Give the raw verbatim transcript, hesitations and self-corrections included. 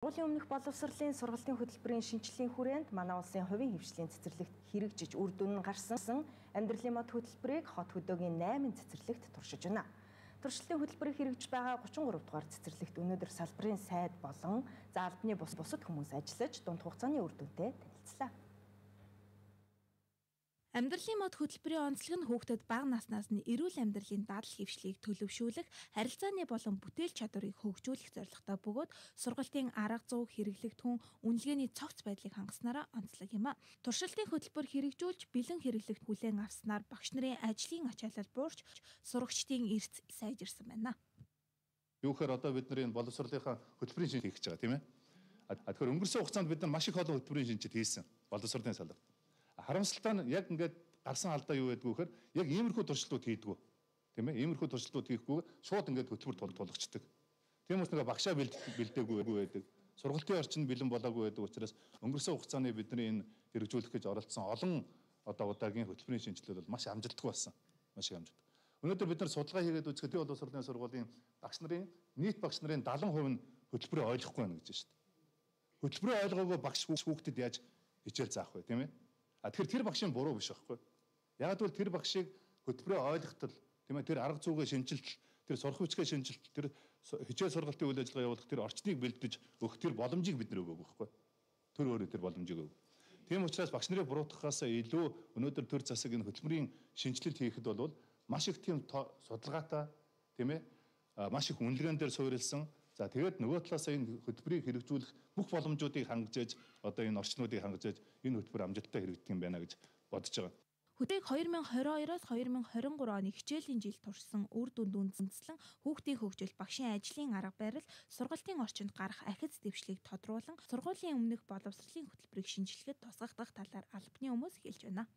Сургуулийн өмнөх боловсролын сургалтын хөтөлбөрийн шинжилгээний хүрээнд манай улсын хувийн хвшлийн цэцэрлэгт хэрэгжиж үр дүн нь гарсан амьдралын мод хөтөлбөрийг хот хөдөөгийн найман цэцэрлэгт туршиж байна. Туршилтын хөтөлбөрийг хэрэгжиж байгаа гучин гурав дугаар цэцэрлэгт өнөөдөр салбарын сайд болон за албаны бус бусад хүмүүс ажиллаж дунд хугацааны үр дүнтэй танилцлаа. Амьдралын мод хөтөлбөрийн онцлог нь хүүхдэд бага наснаас нь эрүүл амьдралын дадал хэвшлийг төлөвшүүлэх, харилцааны болон бүтээл чадварыг хөгжүүлэх зорилготой бөгөөд сургалтын арга зүй хэрэглэгдэхүүн үнэлгээний цогц байдлыг хангаснараа онцлог юм а. Туршилтын хөтөлбөр хэрэгжүүлж бэлэн хэрэглэгт хүлээн авснаар багш нарын ажлын ачаалал буурч сурагчдын эрс сайжирсан байна. Юу гэхээр одоо бид нарын боловсролынхаа хөтөлбөрийн шинжилгээ хийж байгаа тийм ээ. А тэгэхээр өнгөрсөн хугацаанд бид нар маш их олон хөтөлбөрийн шинжилгээ хийсэн боловсролын салбарт. Харамсалтай нь яг ингээд гарсан алдаа юу байдгүй гэхээр яг иймэрхүү туршилтууд хийдгүү. Тийм ээ? Иймэрхүү туршилтууд хийхгүй шууд ингээд хөтөлбөр тулгачдаг. Тийм учраас нэг багшаа бэлдээгүй байдаг. Сургалтын орчин бэлэн болоогүй байдаг учраас өнгөрсөн хугацааны бидний энэ хэрэгжүүлэх гэж оролцсон олон одоо удаагийн хөтөлбөрийн шинжилгээд бол маш амжилттай болсон. Маш их амжилт. Өнөөдөр бид нар судалгаа хийгээд үзэхэд энэ боловсролын сургуулийн багш нарын нийт багш нарын дагалан хувь нь хөтөлбөрөө ойлгохгүй байна гэж байна шүү дээ. Хөтөлбөрөө ойлгоогүй багш хүүхдэд яаж хичээл заах вэ, тийм ээ? А тэгэхээр тэр багшийн буруу биш байхгүй. Яг л тэр багшийг хөтөлбөрөө ойлгохтол тийм ээ тэр арга зүйгээ шинжилт, тэр сурах хүчгээ шинжилт, тэр хичээл сургалтын үйл ажиллагаа явуулах тэр орчныг бэлдэж өгөх тэр боломжийг бид нэр өгөөг байхгүй. Тэр өөрөө тэр боломжийг өг. Тийм учраас багш нарын буруутгахаас илүү өнөөдөр төр засаг энэ хөтөлбөрийн шинжилэлт хийхэд бол маш их тийм судалгаатай тийм ээ маш их үнэлгээнд дээр суурилсан. За тэгээд нөгөө талаас энэ хөтөлбөрийг хэрэгжүүлэх бүх боломжуудыг хангаж одоо энэ орчнуудыг хангаж энэ хөтөлбөр амжилттай хэрэгжих юм байна гэж бодож байгаа. Хөтөлбөрийг хоёр мянга хорин хоёроос хоёр мянга хорин гурав оны хичээлийн жил туршсан үр дүнд үндэслэн хүүхдийн хөгжил, багшийн ажлын арга барил, сургалтын орчинд гарах ахиц дэвшлийг тодруулан сургуулийн өмнөх боловсролын хөтөлбөрийг шинжилгээд тусгагдах талаар албаны хүмүүс хэлж байна.